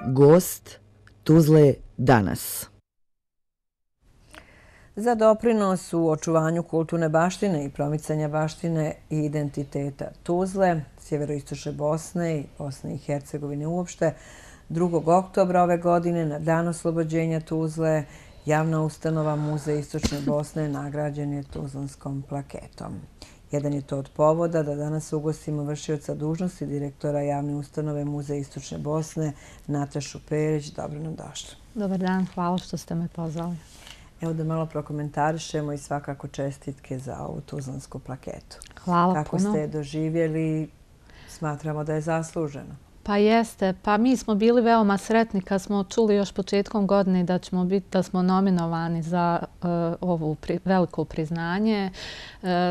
Gost Tuzle danas. Za doprinos u očuvanju kulturne baštine i promicanja baštine i identiteta Tuzle, sjeveroistočne Bosne i Bosne i Hercegovine uopšte, 2. oktobra ove godine na dan oslobođenja Tuzle, javna ustanova Muzej Istočne Bosne nagrađen je Tuzlanskom plaketom. Jedan je to od povoda da danas ugostimo vršioca dužnosti direktora javne ustanove Muzej Istočne Bosne, Natašu Perić. Dobro nam došli. Dobar dan, hvala što ste me pozvali. Evo da malo prokomentarišemo i svakako čestitke za ovu Tuzlansku plaketu. Hvala puno. Kako ste je doživjeli, smatramo da je zasluženo. Pa jeste, pa mi smo bili veoma sretni kad smo čuli još početkom godine da smo nominovani za ovo veliko priznanje.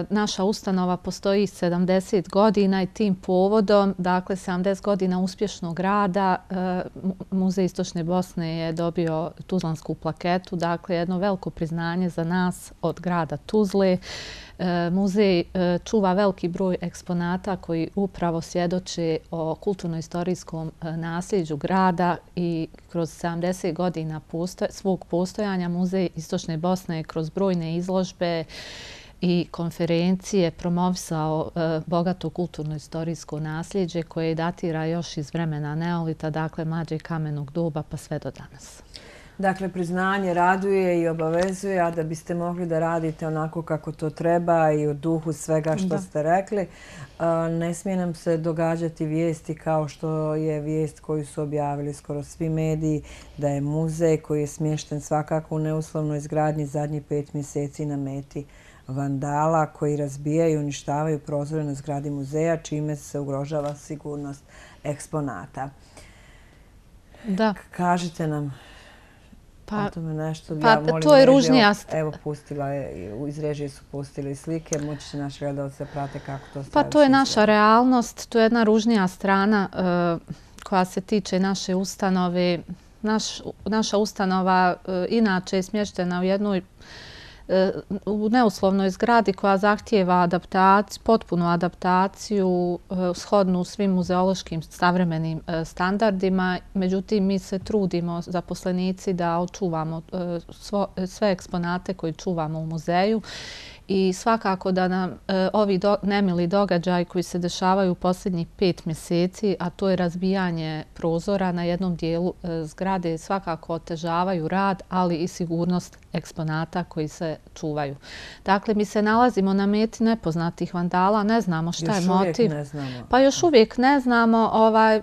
Naša ustanova postoji 70 godina i tim povodom, dakle 70 godina uspješnog rada, Muzej Istočne Bosne je dobio Tuzlansku plaketu, dakle jedno veliko priznanje za nas od grada Tuzle. Muzej čuva veliki broj eksponata koji upravo svjedoče o kulturno-istorijskom nasljeđu grada i kroz 70 godina svog postojanja Muzej Istočne Bosne je kroz brojne izložbe i konferencije promovisao bogato kulturno-istorijsko nasljeđe koje datira još iz vremena neolita, dakle mlađeg kamenog doba pa sve do danas. Dakle, priznanje raduje i obavezuje, a da biste mogli da radite onako kako to treba i u duhu svega što ste rekli, ne smije nam se događati vijesti kao što je vijest koju su objavili skoro svi mediji, da je muzej koji je smješten svakako u neuslovnoj izgradnji zadnjih 5 mjeseci na meti vandala koji razbijaju i uništavaju prozore na zgradi muzeja, čime se ugrožava sigurnost eksponata. Da. Kažite nam... Pa ja to je ružnija... Evo, pustila je, iz režije su pustili slike, moći će naši gledalci da prate kako to staviti. Pa to je naša realnost, to je jedna ružnija strana koja se tiče naše ustanove. Naša ustanova inače je smještena u jednoj u neuslovnoj zgradi koja zahtijeva potpunu adaptaciju shodnu svim muzeološkim savremenim standardima. Međutim, mi se trudimo, zaposlenici, da očuvamo sve eksponate koje čuvamo u muzeju. I svakako da nam ovi nemili događaji koji se dešavaju u posljednjih 5 mjeseci, a to je razbijanje prozora na jednom dijelu zgrade, svakako otežavaju rad, ali i sigurnost eksponata koji se čuvaju. Dakle, mi se nalazimo na meti nepoznatih vandala, ne znamo šta je motiv. Još uvijek ne znamo. Pa još uvijek ne znamo.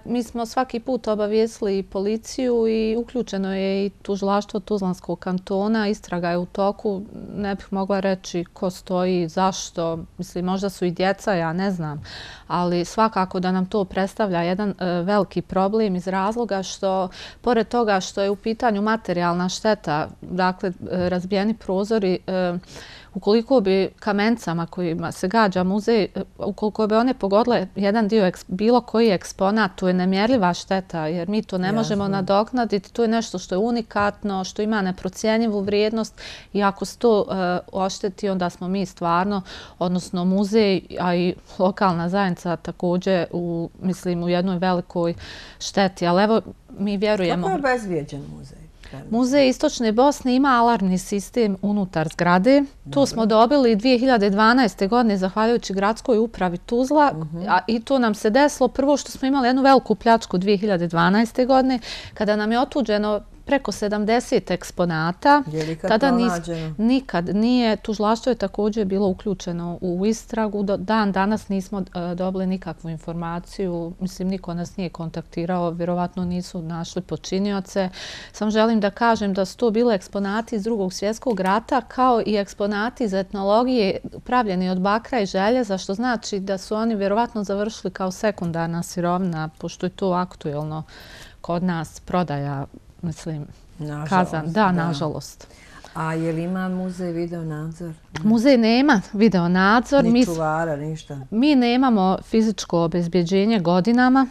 Mi smo svaki put obavijestili i policiju i uključeno je i tužilaštvo Tuzlanskog kantona. Istraga je u toku. Ne bih mogla reći ko stoji, zašto. Mislim, možda su i djeca, ja ne znam. Ali svakako da nam to predstavlja jedan veliki problem iz razloga što, pored toga što je u pitanju materijalna šteta, dakle, razbijeni prozori, ukoliko bi kamencama kojima se gađa muzej, ukoliko bi one pogodile jedan dio, bilo koji eksponat, to je nemjerljiva šteta, jer mi to ne možemo nadoknaditi. To je nešto što je unikatno, što ima neprocjenjivu vrijednost i ako se to ošteti, onda smo mi stvarno, odnosno muzej, a i lokalna zajednica također u jednoj velikoj šteti. Ali evo, mi vjerujemo... Kako je obezvijeđen muzej? Muzej Istočne Bosne ima alarmni sistem unutar zgrade. To smo dobili 2012. godine zahvaljujući gradskoj upravi Tuzla i to nam se desilo prvo što smo imali jednu veliku pljačku 2012. godine kada nam je otuđeno preko 70 eksponata. Je li kad to nađeno? Nikad nije. Tužilaštvo je također bilo uključeno u istragu. Dan danas nismo dobili nikakvu informaciju. Mislim, niko nas nije kontaktirao. Vjerovatno nisu našli počinioce. Samo želim da kažem da su to bili eksponati iz Drugog svjetskog rata kao i eksponati iz etnologije pravljeni od bakra i željeza, što znači da su oni vjerovatno završili kao sekundarna sirovina, pošto je to aktuelno kod nas prodaja. Mislim, kazan. Da, nažalost. A je li ima muzej video nadzor? Muzej nema video nadzor. Ni čuvara, ništa? Mi nemamo fizičko obezbjeđenje godinama.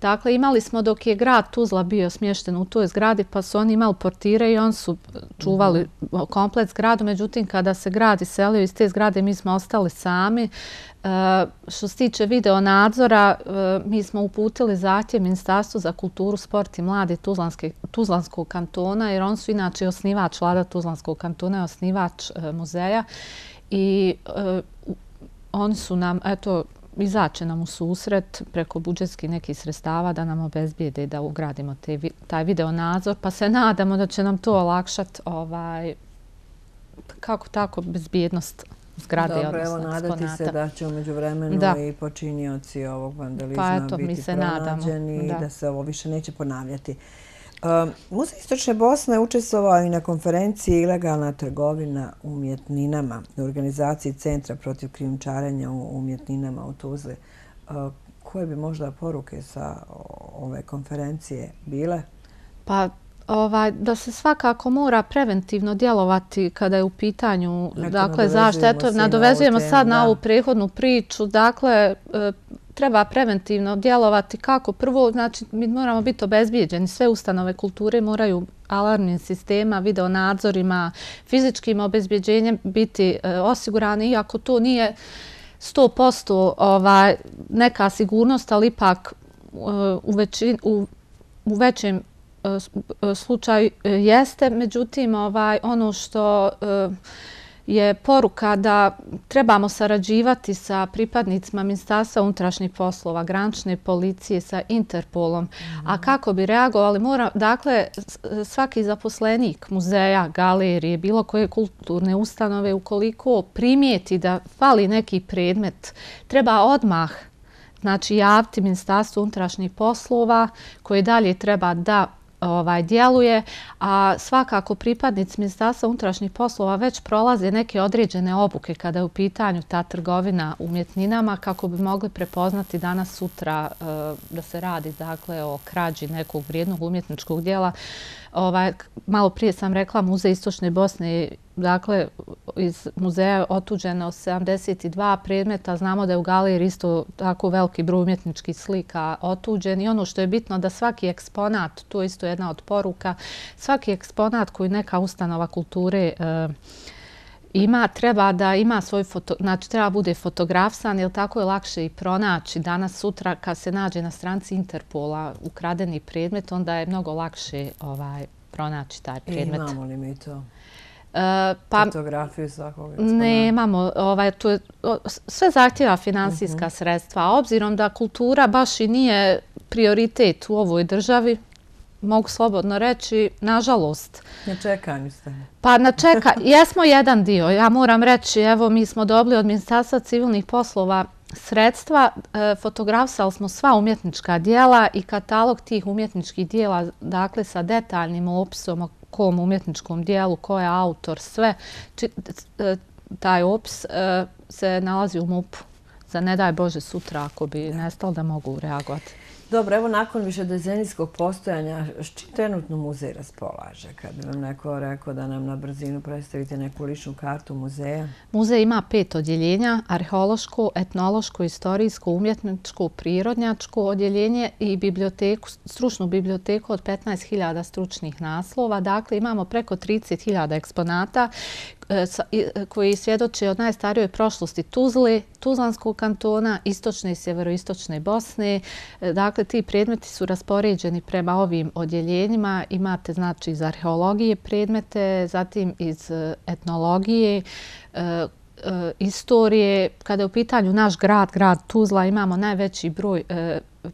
Dakle, imali smo dok je grad Tuzla bio smješten u toj zgradi, pa su oni imali portire i oni su čuvali komplet zgradu. Međutim, kada se grad iselio iz te zgrade, mi smo ostali sami. Što se tiče video nadzora, mi smo uputili zahtjev Ministarstvu za kulturu, sport i mlade Tuzlanskog kantona, jer on su inače osnivač, vlada Tuzlanskog kantona je osnivač muzeja i oni su nam, eto, izaće nam u susret preko budžetskih nekih sredstava da nam obezbijede da ugradimo taj video nadzor, pa se nadamo da će nam to olakšati kako tako bezbjednost zgrade. Dobro, evo nadati se da će umeđu vremenu i počinioci ovog vandalizma biti pronađeni i da se ovo više neće ponavljati. Muzej Istočne Bosne učestvovao i na konferenciji Ilegalna trgovina umjetninama u organizaciji Centra protiv krijumčarenja umjetninama u Tuzli. Koje bi možda poruke sa ove konferencije bile? Pa da se svakako mora preventivno djelovati kada je u pitanju zaštita. Nadovezujemo sad na ovu prethodnu priču. Dakle, treba preventivno djelovati kako? Prvo, znači, mi moramo biti obezbijeđeni. Sve ustanove kulture moraju alarmnim sistema, video nadzorima, fizičkim obezbijeđenjem biti osigurani, iako to nije 100% neka sigurnost, ali ipak u većem slučaju jeste. Međutim, ono što je poruka da trebamo sarađivati sa pripadnicima Ministarstva unutrašnjih poslova, granične policije, sa Interpolom. A kako bi reagovali? Dakle, svaki zaposlenik muzeja, galerije, bilo koje kulturne ustanove, ukoliko primijeti da fali neki predmet, treba odmah javiti Ministarstvu unutrašnjih poslova koje dalje treba da djeluje, a svakako pripadnici Ministarstva unutrašnjih poslova već prolaze neke određene obuke kada je u pitanju ta trgovina umjetninama kako bi mogli prepoznati danas sutra da se radi o krađi nekog vrijednog umjetničkog djela. Malo prije sam rekla Muzej Istočne Bosne, dakle iz muzeja je otuđeno 72 predmeta. Znamo da je u galeriji isto tako veliki broj umjetničkih slika otuđen i ono što je bitno da svaki eksponat, to je isto jedna od poruka, svaki eksponat koji neka ustanova kulture treba da ima svoj znači treba bude fotografisan, jer tako je lakše i pronaći. Danas, sutra, kad se nađe na stranici Interpola ukradeni predmet, onda je mnogo lakše pronaći taj predmet. Imamo li mi to? Fotografiju svakog eksponata? Nemamo. Sve zahtjeva finansijska sredstva. A obzirom da kultura baš i nije prioritet u ovoj državi, mogu slobodno reći, nažalost. Na čekanju ste. Pa jesmo jedan dio. Ja moram reći, evo, mi smo dobili od Ministarstva civilnih poslova sredstva, fotografisali smo sva umjetnička dijela i katalog tih umjetničkih dijela, dakle sa detaljnim opisom o kom umjetničkom dijelu, ko je autor, sve. Taj opis se nalazi u MUP-u. Za ne daj Bože sutra ako bi nestalo da mogu reagovati. Dobro, evo nakon višedecenijskog postojanja, s čim trenutno muzej raspolaže? Kad bi vam neko rekao da nam na brzinu predstavite neku ličnu kartu muzeja? Muzej ima 5 odjeljenja, arheološko, etnološko, istorijsko, umjetničko, prirodnjačko odjeljenje i biblioteku, stručnu biblioteku od 15.000 stručnih naslova. Dakle, imamo preko 30.000 eksponata koji svjedoče od najstarijoj prošlosti Tuzle, Tuzlanskog kantona, istočne i sjeveroistočne Bosne. Dakle, ti predmeti su raspoređeni prema ovim odjeljenjima. Imate, znači, iz arheologije predmete, zatim iz etnologije, istorije. Kada je u pitanju naš grad Tuzla, imamo najveći broj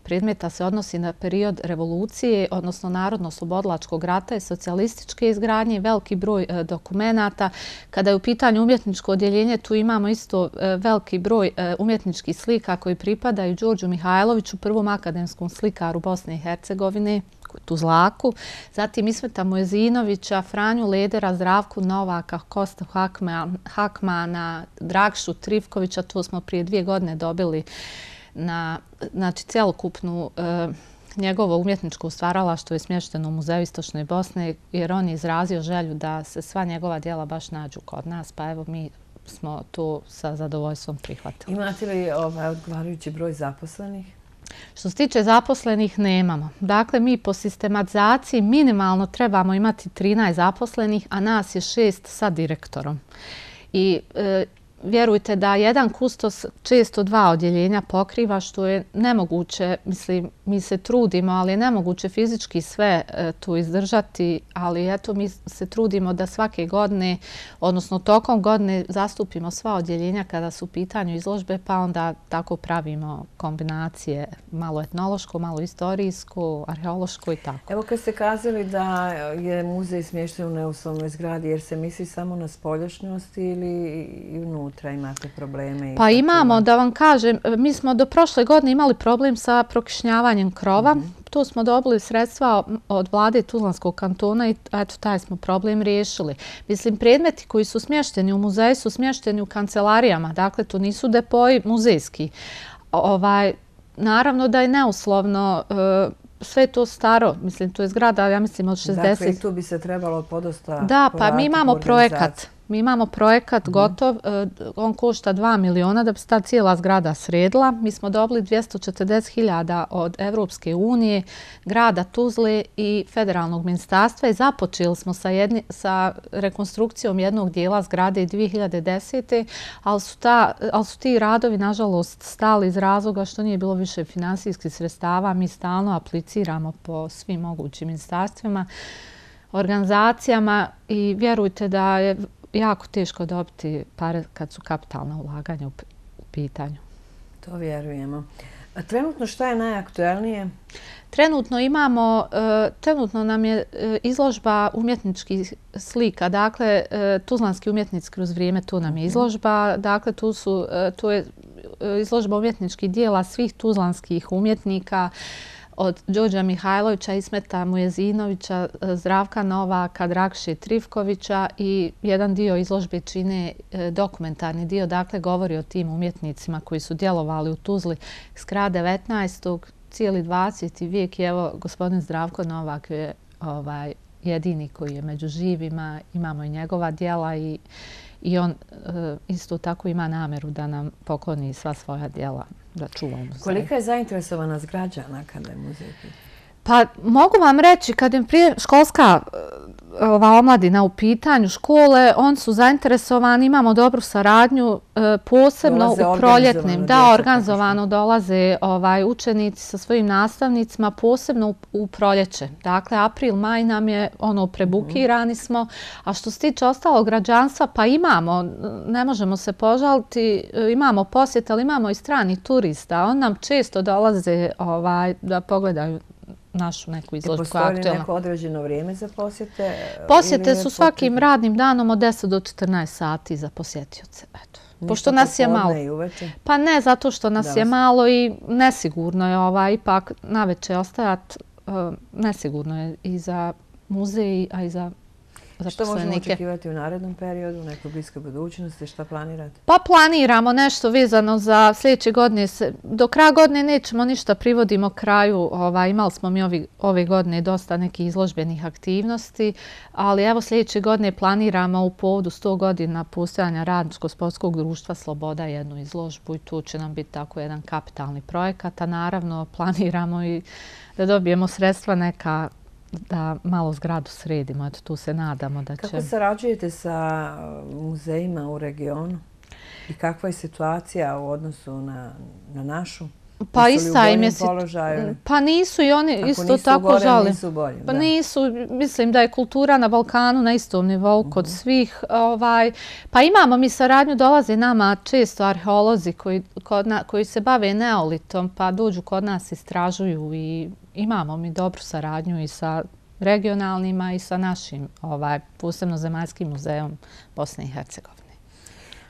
predmeta se odnosi na period revolucije, odnosno narodno-oslobodilačkog rata i socijalističke izgradnje, veliki broj dokumenata. Kada je u pitanju umjetničko odjeljenje, tu imamo isto veliki broj umjetničkih slika koji pripadaju Đorđu Mihajloviću, prvom akademskom slikaru Bosne i Hercegovine, Tuzlaku, zatim Ismeta Mojezinovića, Franju Ledera, Zdravku Novaka, Kostu Hakmana, Dragšu Trivkovića. To smo prije 2 godine dobili na cjelokupnu njegovo umjetničko stvaralaštvo je smješteno u Muzeju Istočne Bosne, jer on je izrazio želju da se sva njegova djela baš nađu kod nas, pa evo mi smo to sa zadovoljstvom prihvatili. Imate li odgovarajući broj zaposlenih? Što se tiče zaposlenih, nemamo. Dakle, mi po sistematizaciji minimalno trebamo imati 13 zaposlenih, a nas je 6 sa direktorom. I vjerujte da jedan kustos često 2 odjeljenja pokriva, što je nemoguće, mislim, mi se trudimo, ali je nemoguće fizički sve tu izdržati, ali eto, mi se trudimo da svake godine, odnosno tokom godine, zastupimo sva odjeljenja kada su u pitanju izložbe, pa onda tako pravimo kombinacije, malo etnološko, malo istorijsko, arheološko i tako. Evo kad ste kazali da je muzej smješten u neuslovnoj zgradi, jer se misli samo na spoljašnjost ili i unutra imate probleme? Pa imamo, da vam kažem, mi smo do prošle godine imali problem sa prokišnjavanjem krova. Tu smo dobili sredstva od vlade Tuzlanskog kantona i eto, taj smo problem riješili. Mislim, predmeti koji su smješteni u muzeju su smješteni u kancelarijama, dakle, to nisu depoji muzejski. Naravno da je neuslovno, sve to staro, mislim, to je zgrada, ja mislim, od 60. Dakle, i tu bi se trebalo podosta... Da, pa mi imamo projekat. Mi imamo projekat gotov, on košta 2 miliona da bi se ta cijela zgrada sredila. Mi smo dobili 240.000 od Evropske unije, grada Tuzle i federalnog ministarstva i započeli smo sa rekonstrukcijom jednog dijela zgrade 2010. Ali su ti radovi, nažalost, stali iz razloga što nije bilo više finansijskih sredstava. Mi stalno apliciramo po svim mogućim ministarstvima, organizacijama i vjerujte da je jako teško dobiti pare kad su kapitalna ulaganja u pitanju. To vjerujemo. A trenutno šta je najaktuelnije? Trenutno nam je izložba umjetničkih slika. Dakle, tuzlanski umjetnici kroz vrijeme, tu nam je izložba. Dakle, tu je izložba umjetničkih dijela svih tuzlanskih umjetnika, od Đorđa Mihajlovića, Ismeta Mujezinovića, Zdravka Novaka, Dragše Trifkovića i jedan dio izložbe čine dokumentarni dio. Dakle, govori o tim umjetnicima koji su djelovali u Tuzli s kraja 19. cijeli 20. vijek. I evo, gospodin Zdravko Novak je jedini koji je među živima. Imamo i njegova djela i on isto tako ima namjeru da nam pokloni sva svoja djela da čuva u muzeju. Kolika je zainteresovanost građana kada je muzej? Pa mogu vam reći, kad je školska omladina u pitanju škole, oni su zainteresovani, imamo dobru saradnju, posebno u proljetnim. Da, organizovano dolaze učenici sa svojim nastavnicima, posebno u proljeće. Dakle, april, maj nam je prebukirani smo, a što se tiče ostalog građanstva, pa imamo, ne možemo se požaliti, imamo posjet, ali imamo i strani turista. On nam često dolaze da pogledaju našu neku izložbu koja je aktuelna. Postoji li neko određeno vrijeme za posjete? Posjete su svakim radnim danom od 10 do 14 sati za posjetioce. Pošto nas je malo. Pa ne, zato što nas je malo i nesigurno je ipak naveče ostajati. Nesigurno je i za muzej, a i za što možemo očekivati u narednom periodu, u nekoj bliskoj budućnosti? Šta planirate? Pa planiramo nešto vezano za sljedeće godine. Do kraja godine nećemo ništa, privodimo kraju. Imali smo mi ove godine dosta nekih izložbenih aktivnosti, ali evo sljedeće godine planiramo u povodu 100 godina postojanja Radničko-sportskog društva Sloboda jednu izložbu i tu će nam biti tako jedan kapitalni projekat, a naravno planiramo i da dobijemo sredstva neka da malo zgradu sredimo. Eto, tu se nadamo da će... Kako sarađujete sa muzejima u regionu? I kakva je situacija u odnosu na našu? Pa ista im je... Pa nisu i oni isto tako žali. Nisu bolji, pa nisu, mislim da je kultura na Balkanu na istom nivou kod svih. Pa imamo mi saradnju, dolaze nama često arheolozi koji se bave neolitom, pa dođu kod nas, istražuju i imamo mi dobru saradnju i sa regionalnima i sa našim, posebno Zemaljskim muzejom Bosne i Hercegovine.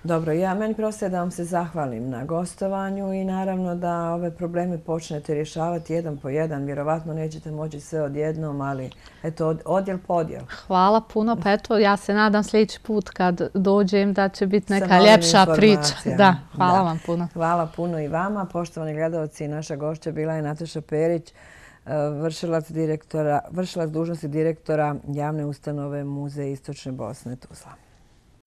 Dobro, meni prosto je da vam se zahvalim na gostovanju i naravno da ove probleme počnete rješavati jedan po jedan. Vjerovatno nećete moći sve odjednom, ali eto, odjel po odjel. Hvala puno, pa eto, ja se nadam sljedeći put kad dođem da će biti neka ljepša priča. Da, hvala vam puno. Hvala puno i vama. Poštovani gledalci, naša gošća bila je Nataša Perić, vršilac dužnosti direktora javne ustanove Muzej Istočne Bosne Tuzla.